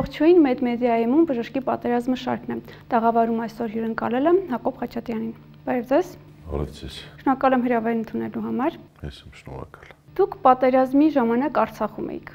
Ողջույն, Մեդմեդիայում բժշկի պատերազմը շարքն է։ Տաղավարում այսօր հյուրընկալել եմ Հակոբ Խաչատյանին։ Բարև ձեզ։ Բարև ձեզ։ Շնորհակալ եմ հրավերն ընդունելու համար։ Ես եմ շնորհակալ։ Դուք պատերազմի ժամանակ Արցախում էիք։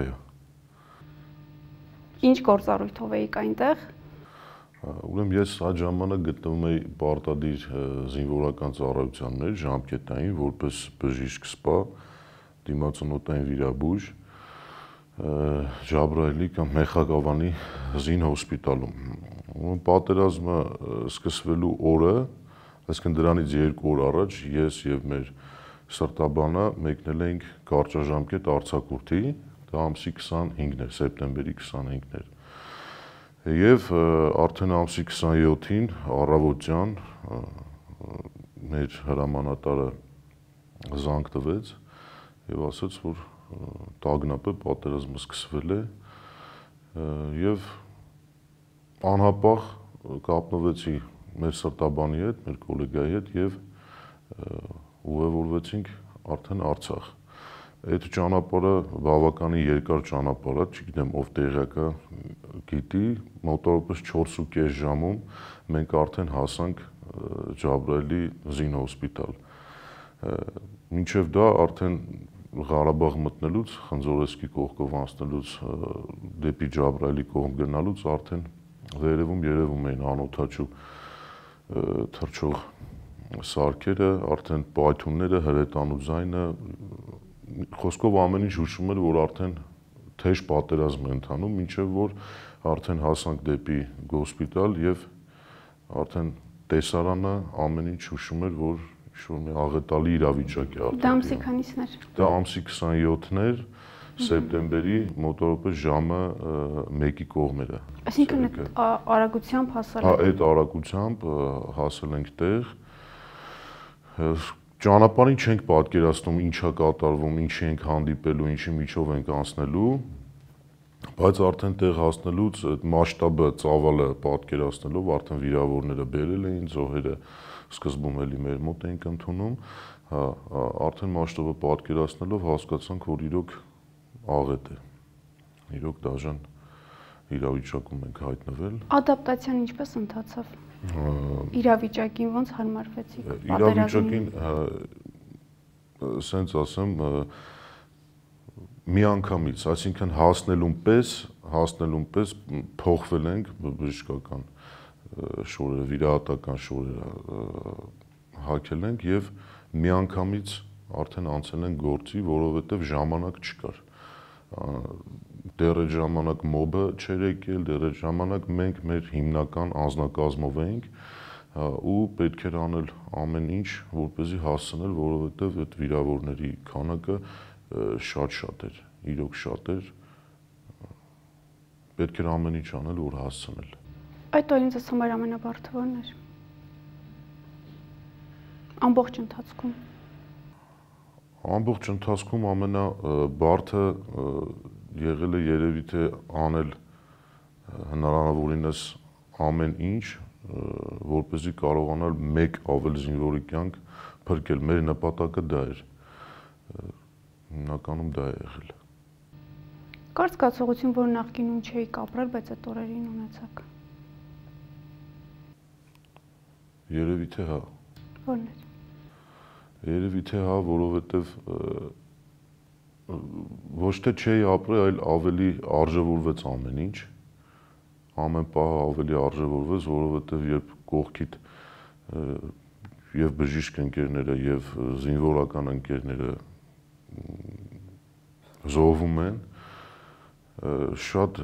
Այո։ Ինչ գործառույթով էիք այնտեղ։ Ուրեմն ես այդ ժամանակ գտնվում էի պարտադիր զինվորական ծառայության մեջ, ժամկետային, որպես բժիշկ սպա, դիմացօդային վիրաբույժ Ջաբրայելի կամ Մեխագավանի զինհոսպիտալում։ Պատերազմը սկսվելու օրը, այսինքն դրանից 2 օր առաջ ես եւ մեր սրտաբանը մեկնել էինք կարճաժամկետ արձակուրդի, դա ամսի 25-ն էր, սեպտեմբերի 25-ն էր։ Եվ արդեն ամսի 27-ին առավոտյան մեր հրամանատարը զանգ տվեց եւ ասաց, որ տագնապը պատերազմը սկսվել է եւ անհապաղ կապնվեցի մեր սրտաբանի հետ, մեր գոլեգայի հետ եւ ուղևորվեցինք արդեն Արցախ։ Այդ ճանապարհը բավականին երկար ճանապարհ է, չգիտեմ ով տեղյակ է, գիտի, մոտավորապես 4.5 ժամում մենք արդեն հասանք Ջաբրայելի զինհոսպիտալ։ Մինչև դա արդեն Ղարաբաղ մտնելուց, Խնձորեսկի կողքով անցնելուց դեպի Ջաբրայելի կողմ գնալուց արդեն վերևում երևում էին անօդաչու թռչող սարքերը, արդեն պայթյունները, հրետանու ձայնը, խոսքով ամեն ինչ հուշում էր, որ արդեն թեժ պատերազմ է ընթանում, մինչև որ արդեն հասանք դեպի գոսպիտալ եւ արդեն տեսարանը ամեն ինչ հուշում էր, որ ինչ-որ մի աղետալի իրավիճակ է արդեն։ Դա ամսի քանիսն էր։ Դա ամսի 27-ն էր, սեպտեմբերի մոտավորապես ժամը 1-ի կողմերը։ Այսինքն արագությամբ հասել եք։ Հա, այդ արագությամբ հասել ենք տեղ։ Ճանապարհին չենք պատկերացնում ինչա կատարվում, ինչի ենք հանդիպելու, ինչի միջով ենք անցնելու, բայց արդեն տեղ հասնելուց այդ մասշտաբը, ծավալը պատկերացնելով արդեն վիրավորները բերել էին, զոհերը սկզբում էլի մեր մոտ էինք ընդունում, արդեն մասշտաբը պատկերացնելով հասկացանք, որ իրոք աղետ է, իրոք դաժան իրավիճակում ենք հայտնվել։ Ադապտացիան ինչպես ընթացավ։ Իրավիճակին ոնց հարմարվեցիք։ Իրավիճակին, ասենց ասեմ, միանգամից, այսինքն հասնելուն պես փոխվել ենք բժշկական շորերը, վիրահատական շորերը հագել ենք եւ միանգամից արդեն անցել ենք գործի, որովհետեւ ժամանակ չկար։ Դեռ այդ ժամանակ մոբը չէր եկել, դեռ այդ ժամանակ մենք մեր հիմնական անձնակազմով էինք ու պետք էր անել ամեն ինչ, որպեսզի հասցնել, որովհետև այդ վիրավորների քանակը շատ էր, իրոք շատ էր, պետք էր ամեն ինչ անել, որ հասցնել։ Այդ օրին ձեզ համար ամենաբարդը ո՞րն էր։ Ամբողջ ընթացքում։ Ամբողջ ընթացքում ամենաբարդը եղել է երևի թե անել հնարավորինս ամեն ինչ, որպեսզի կարողանալ մեկ ավել զինվորի կյանք փրկել։ Մեր նպատակը դա էր։ Հիմնականում դա է եղել։ Կար զգացողություն, որ նախկինում չէիք ապրել, բայց այդ օրերին ունեցաք։ Երևի թե հա։ Ո՞րն էր։ Երևի թե հա, որովհետև ոչ թե չէի ապրել, այլ ավելի արժևորվեց ամեն ինչ, ամեն պահ ավելի արժևորվեց, որովհետև երբ կողքիդ եւ բժիշկ ընկերները եւ զինվորական ընկերները զոհվում են, շատ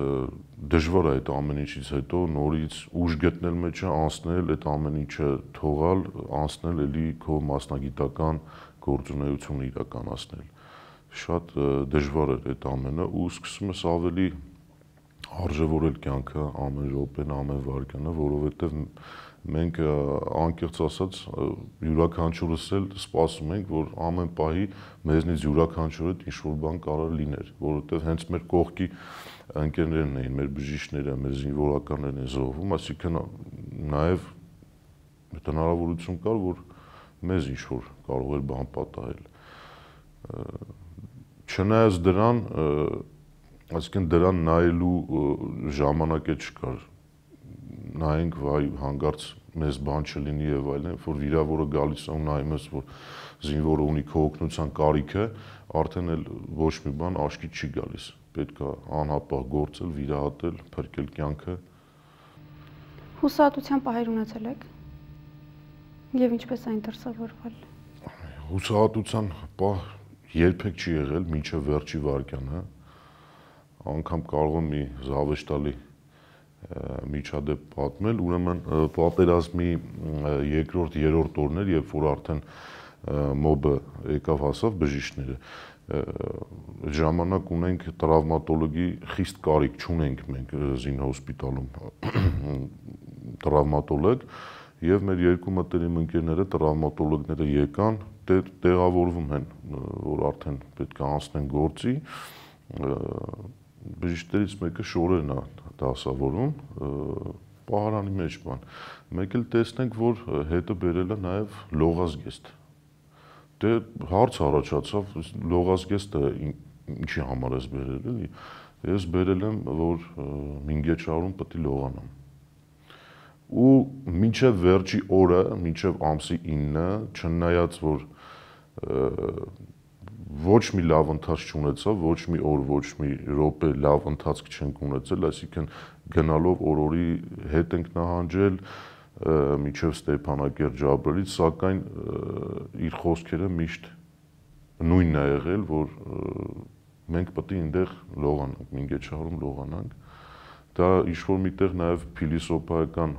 դժվար է այդ ամեն ինչից հետո նորից ուժ գտնել մեջը, անցնել այդ ամեն ինչը թողալ, անցնել էլի քո մասնագիտական գործունեությունը իրականացնել։ Շատ դժվար էր այդ ամենը ու սկսում ես ավելի արժևորել կյանքը, ամեն րոպեն, ամեն վայրկյանը, որովհետև մենք անկեղծ ասած յուրաքանչյուրս էլ սպասում ենք, որ ամեն պահի մեզնից յուրաքանչյուրը ինչ-որ բան կարող լիներ, որովհետև հենց մեր կողքի ընկերներն էին, մեր բժիշկները, մեր զինվորականներն են զոհվում, այսինքն նաև այդ հնարավորություն կար, որ մեզ ինչ-որ կարող էր բան պատահել։ Չնայած դրան Այսինքն դրան նայելու ժամանակ չկար, նայենք վայ հանգարց մեզ բան չլինի եւ այլն, որ վիրավորը գալիս է ու նայում ես, որ զինվորը ունի քո օգնության կարիքը, արդեն էլ ոչ մի բան աչքի չի գալիս, պետք է անհապաղ գործել, վիրահատել, փրկել կյանքը։ Հուսահատության պահեր ունեցել եք եւ ինչպես այն դրսևորվել։ Հուսահատության պահ երբեք չի եղել մինչև վերջի վայրկյանը, անգամ կարող եմ մի զավեշտալի միջադեպ պատմել, ուրեմն պատերազմի երկրորդ, երրորդ օրներ, երբ որ արդեն մոբը եկավ հասավ բժիշկները, ժամանակ ունենք տրավմատոլոգի խիստ կարիք չունենք մենք զինհոսպիտալում տրավմատոլոգ եւ մեր երկու մտերիմ ընկերները տրավմատոլոգները եկան, տեղավորվում են, որ արդեն պետք է անցնեն գործի, բժիշկներից մեկը շորերն է դասավորում, պահարանի մեջ բան, մեկ էլ տեսնենք, որ հետը բերել է նաեւ լողազգեստ։ Դե հարց առաջացավ, լողազգեստը ինչի համար ես բերել, էլի։ Ես բերել եմ, որ մինգեչարում պետք է լողանամ։ Ու մինչև վերջի օրը, մինչև ամսի 9-ը, չնայած որ ոչ մի լավ ընթացք չունեցավ, ոչ մի օր, ոչ մի րոպե լավ ընթացք չենք ունեցել, այսինքն գնալով օրորի հետ ենք նահանջել մինչև Ստեփանակերտ Ջաբրելից, սակայն իր խոսքերը միշտ նույնն է եղել, որ մենք պետք է այնտեղ լողանանք, Մինգեչարում լողանանք։ Դա ինչ-որ միտեղ նաև փիլիսոփայական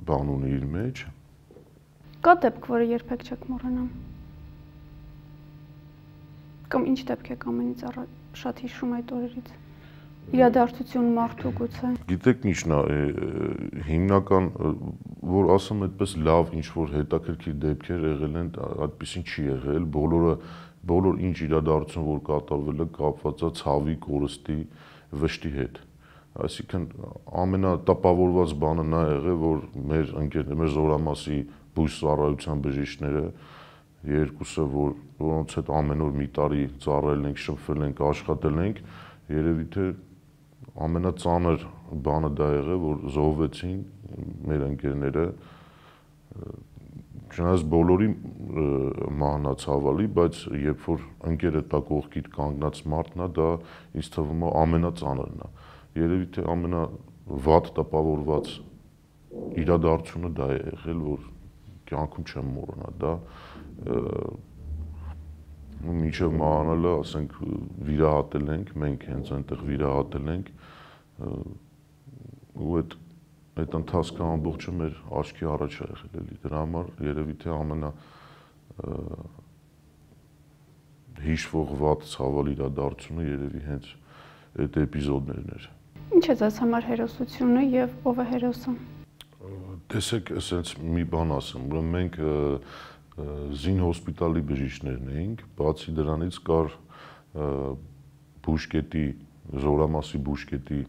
բան ունի իր մեջ։ Կա դեպք, որը երբեք չեք մոռանամ։ Կամ ինչ դեպք եք ամենից առաջ շատ հիշում այդ օրերից։ Իրադարձություն մարդու գուցե։ Գիտեք ինչն է, հիմնական, որ ասեմ այդպես լավ ինչ-որ հետաքրքիր դեպքեր եղել են, այդպեսին չի եղել, բոլոր ինչ իրադարձություն, որ կատարվել է, կապված է ցավի, կորստի, վշտի հետ։ Այսինքն ամենատպավորված բանը նա եղել, որ մեր ընկերները, մեր զորամասի բույս ծառայության բժիշկները երկուսը, որոնց հետ ամեն օր մի տարի ծառայել ենք, շփվել ենք, աշխատել ենք, երևի թե ամենածանր բանը դա եղել, որ զոհվեցին մեր ընկերները, չնայած բոլորի մահն է ցավալի, բայց երբ որ ընկերը տա կողքիդ կանգնած մարդն է, դա ինձ թվում է ամենածանրն է։ Երևի թե ամենավատ տպավորված իրադարձությունը դա է եղել, որ կյանքում չեմ մոռանա, դա մինչև մահանալը, ասենք, վիրահատել ենք, մենք հենց այնտեղ վիրահատել ենք, ու այդ ընթացքը ամբողջը մեր աչքի առաջ է եղել, էլի, դրա համար երևի թե ամենա հիշվող վատ ցավալ իրադարձությունը երևի հենց այդ էպիզոդներն էր։ Ինչ է ձեզ համար հերոսությունը եւ ով է հերոսը։ Տեսեք, ասենց մի բան ասեմ, ուրեմն մենք զինհոսպիտալի բժիշկներն էինք, բացի դրանից կար բուժկետի, զորամասի բուժկետի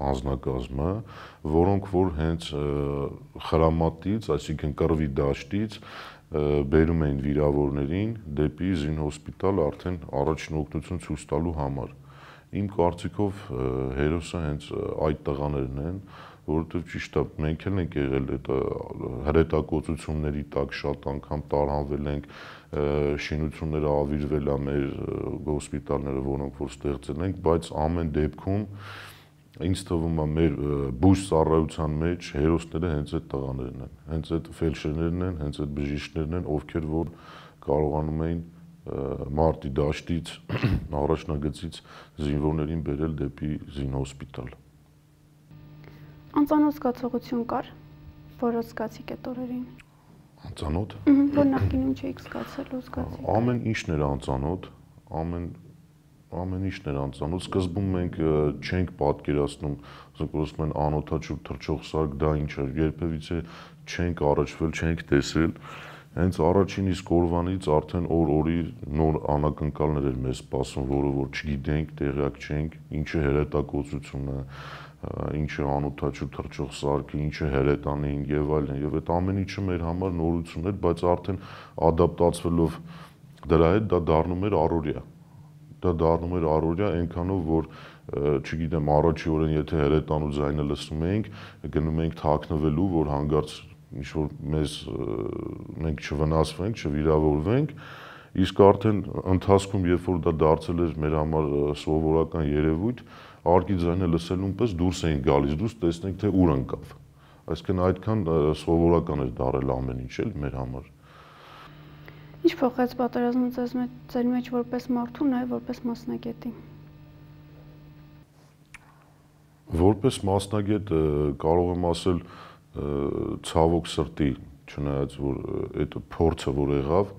անձնակազմը, որոնք որ հենց խրամատից, այսինքն կռվի դաշտից բերում էին վիրավորներին դեպի զինհոսպիտալ արդեն առաջին օգնություն ցույց տալու համար։ Իմ կարծիքով հերոսը հենց այդ տղաներն են, որովհետև ճիշտ է, մենք էլ ենք եղել այդ հրետակոծությունների տակ, շատ անգամ տարանվել ենք, շինությունները ավիրվել է մեր հոսպիտալները, որոնք որ ստեղծել ենք, բայց ամեն դեպքում ինձ թվում է մեր բույս ծառայության մեջ հերոսները հենց այդ տղաներն են, հենց այդ ֆելդշերներն են, հենց այդ բժիշկներն են, ովքեր որ կարողանում էին մարտի դաշտից, առաջնագծից զինվորներին բերել դեպի զինհոսպիտալ։ Անծանոթ զգացողություն կար, որը զգացիք այդ օրերին։ Անծանոթ։ Որ նախկինում չէիք զգացել ու զգացիք։ Ամեն ինչն էր անծանոթ, ամեն ինչն էր անծանոթ։ Սկզբում մենք չենք պատկերացնում, ասում են անօթաչու թռչող սարք, դա ինչ է, երբևիցե չենք առաջվել, չենք տեսել։ Հենց առաջին իսկ օրվանից արդեն օր-օրի նոր անակնկալներ էր մեզ սպասում, որը որ չգիտենք, տեղյակ չենք, ինչ է հրետակոծությունը, ինչ է անօթաչու թռչող սարքը, ինչ է հրետանին եւ այլն, եւ այդ ամեն ինչը մեր համար նորություն էր, բայց արդեն ադապտացվելով դրա հետ դա դառնում էր առօրյա։ դա դառնում էր առօրյա այնքանով, որ չգիտեմ, առաջի օրն եթե հրետանու ձայնը լսում էինք, գնում էինք թաքնվելու, որ հանկարծ ինչ-որ մենք չվնասվենք, չվիրավորվենք, իսկ արդեն ընթացքում, երբ որ դա դարձել էր մեր համար սովորական երևույթ, արկի ձայնը լսելուն պես դուրս էինք գալիս, դուրս տեսնենք, թե ուր ընկավ։ Այսինքն այդքան սովորական էր դարել ամեն ինչ էլ մեր համար։ Ինչ փոխեց պատերազմը ձեր մեջ որպես մարդու, նաև որպես մասնագետի։ Որպես մասնագետ կարող եմ ասել ցավոք սրտի, չնայած որ այդ փորձը որ եղավ,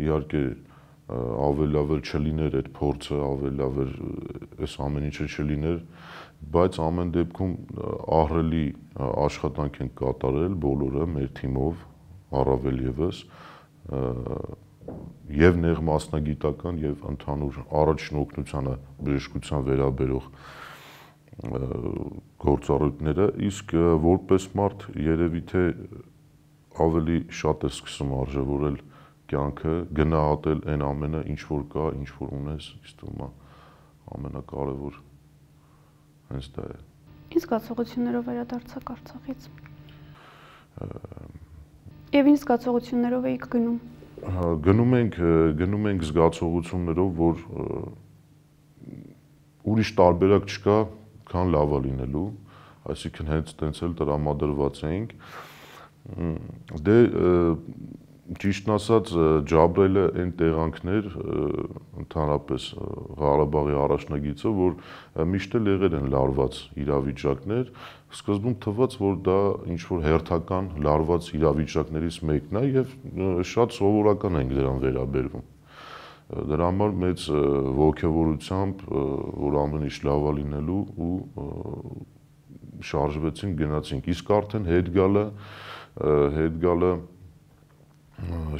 իհարկե ավելի լավ չլիներ այդ փորձը, ավելի լավ այս ամեն ինչը չլիներ, բայց ամեն դեպքում ահռելի աշխատանք են կատարել բոլորը մեր թիմով, առավել եւս եւ նեղ մասնագիտական եւ ընդհանուր առաջնորդությանը բժշկության վերաբերող գործառույթները, իսկ որպես մարդ երևի թե ավելի շատ է սկսում արժևորել կյանքը, գնահատել այն ամենը, ինչ որ կա, ինչ որ ունես, իսկ թվում է ամենակարևոր հենց դա է։ Ինչ զգացողություններով վերադարձաք Արցախից։ Եվ ինչ զգացողություններով եք գնում։ Գնում ենք զգացողություններով, որ ուրիշ տարբերակ չկա, քան լավը լինելու, այսինքն հենց տենց էլ տրամադրված էինք։ Դե ճիշտն ասած Ջաբրելը այն տեղանքներ, ընդհանրապես Ղարաբաղի առաջնագիծը, որ միշտ էլ եղել են լարված իրավիճակներ, սկզբում թվաց, որ դա ինչ-որ հերթական լարված իրավիճակներից մեկն է եւ շատ սովորական ենք դրան վերաբերվում։ Դրա համար մեծ ողջավորությամբ, որ ամեն ինչ լավ է լինելու ու շարժվեցինք, գնացինք։ Իսկ արդեն հետ գալը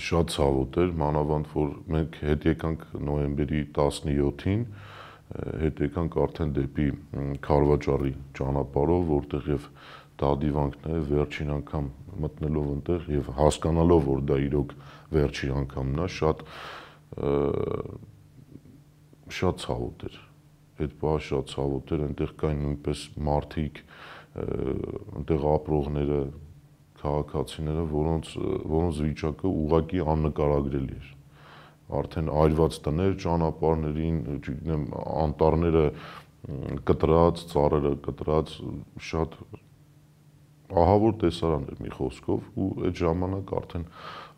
շատ ցավոտ էր, մանավանդ որ մենք հետ եկանք նոյեմբերի 17-ին, հետ եկանք արդեն դեպի Քարվաճառի ճանապարհով, որտեղ եւ դադիվանքն է վերջին անգամ մտնելով այնտեղ եւ հասկանալով, որ դա իրոք վերջին անգամն է, շատ ցավոտ էր։ Այդ բանը շատ ցավոտ էր, այնտեղ կային նույնպես մարդիկ, այնտեղ ապրողները, քաղաքացիները, որոնց վիճակը ուղղակի աննկարագրելի էր։ Արդեն այրված տներ ճանապարհներին, չգիտեմ, անտառները կտրած, ծառերը կտրած, շատ ահավոր տեսարան էր մի խոսքով ու այդ ժամանակ արդեն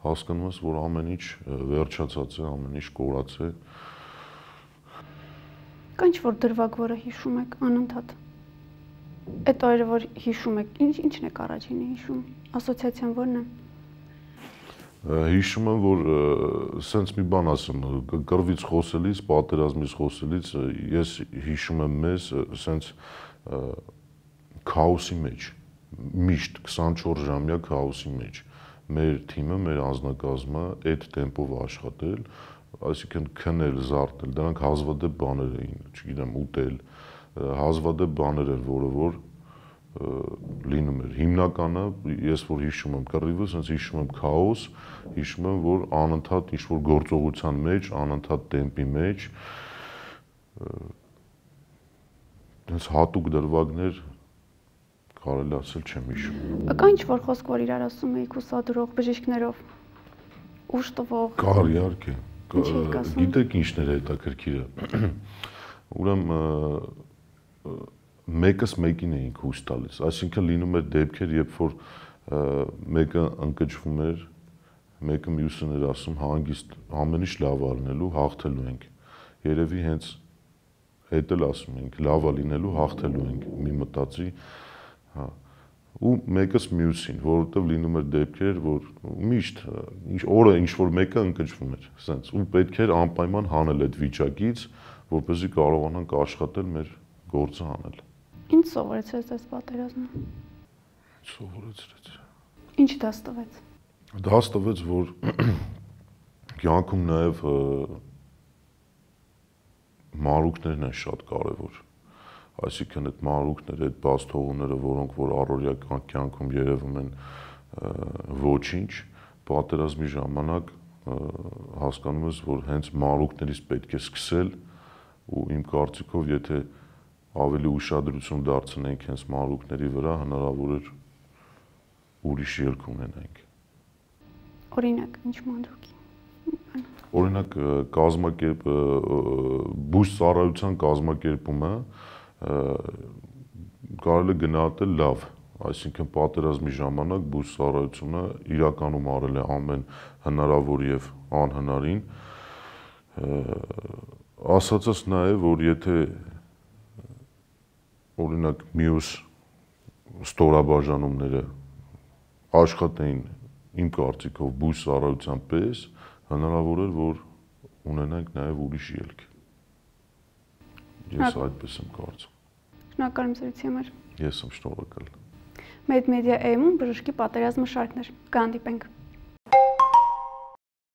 հասկանում ես, որ ամեն ինչ վերջացած է, ամեն ինչ կորած է։ Կա ինչ-որ դրվագ, որը հիշում եք անընդհատ։ Այդ օրը, որ հիշում եք, ինչն եք առաջինը հիշում, ասոցիացիան ո՞րն է։ Հիշում եմ, որ սենց մի բան ասեմ, կռվից խոսելիս, պատերազմից խոսելիս, ես հիշում եմ մեզ սենց քաոսի մեջ, միշտ 24 ժամյա քաոսի մեջ, մեր թիմը, մեր անձնակազմը այդ տեմպով աշխատել, այսինքն քնել, զարթնել, դրանք հազվադեպ բաներ էին, չգիտեմ, ուտել, հազվադեպ բաներ էր, որը որ լինում էր։ Հիմնականը, ես որ հիշում եմ կռիվը, ասենց հիշում եմ քաոս, հիշում եմ, որ անընդհատ ինչ-որ գործողության մեջ, անընդհատ տեմպի մեջ, այնց հատուկ դրվագներ կարելի ասել չեմ հիշում։ Կա ինչ-որ խոսք, որ իրար ասում էիք ուսադրող բժիշկներով, ուժ տվող։ Կար, իհարկե։ Գիտեք ինչն էր հետաքրքիրը։ Ուրեմն մեկս մեկին էինք հույս տալիս, այսինքն լինում էր դեպքեր, երբ որ մեկը ընկճվում էր, մեկը մյուսն էր ասում հանգիստ ամեն ինչ լավ է լինելու, հաղթելու ենք։ Երևի հենց հետ էլ ասում ենք, լավ է լինելու, հաղթելու ենք, մի մտածի, հա։ Ու մեկս մյուսին, որովհետև լինում էր դեպքեր, որ միշտ օրը ինչ որ մեկը ընկճվում էր, ասենց, ու պետք էր անպայման հանել այդ վիճակից, որպեսզի կարողանանք աշխատել մեր գործը անել։ Ինչ սովորեցրեց այս պատերազմը։ Սովորեցրեց։ Ինչ դաս տվեց։ Դաս տվեց, որ կյանքում նաև մանրուքներն են շատ կարևոր։ Այսինքն այդ մանրուքները, այդ բացթողումները, որոնք որ առօրյա կյանքում երևում են ոչինչ, պատերազմի ժամանակ հասկանում ես, որ հենց մանրուքներից պետք է սկսել ու իմ կարծիքով եթե ավելի ուշադրություն դարձնենք հենց մանրուքների վրա, հնարավոր էր ուրիշ ելք ունենանք։ Օրինակ, ինչ մանրուքի։ Օրինակ բույս ծառայության կազմակերպումը կարելի է գնահատել լավ, այսինքն պատերազմի ժամանակ բույս ծառայությունը իրականում արել է ամեն հնարավոր եւ անհնարին։ Ասածս նաեւ, որ եթե օրինակ մյուս ստորաբաժանումները աշխատեին իմ կարծիքով բույս ծառայության պես, հնարավոր էր, որ ունենանք նաեւ ուրիշ ելք։ Ես այդպես եմ կարծում։ Շնորհակալ եմ զրույցի համար։ Ես եմ շնորհակալ։ Մեդմեդիա AM-ում բժշկի պատերազմը շարքներ։ Կհանդիպենք։